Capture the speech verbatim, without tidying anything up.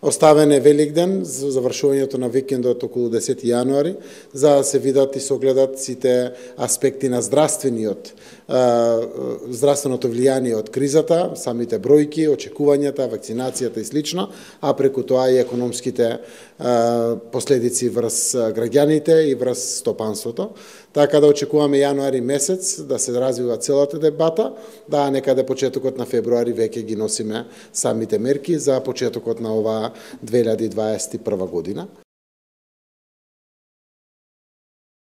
Оставен е Великден за завршувањето на викендот околу десети јануари, за да се видат и согледат сите аспекти на здравствениот здравственото влијание од кризата, самите бројки, очекувањата, вакцинацијата и слично, а преку тоа и економските последици врз граѓаните и врз стопанството. Така да очекуваме јануари месец да се развива целата дебата, да некаде почетокот на февруари веќе ги носиме самите мерки за почетокот на оваа две илјади дваесет и прва година.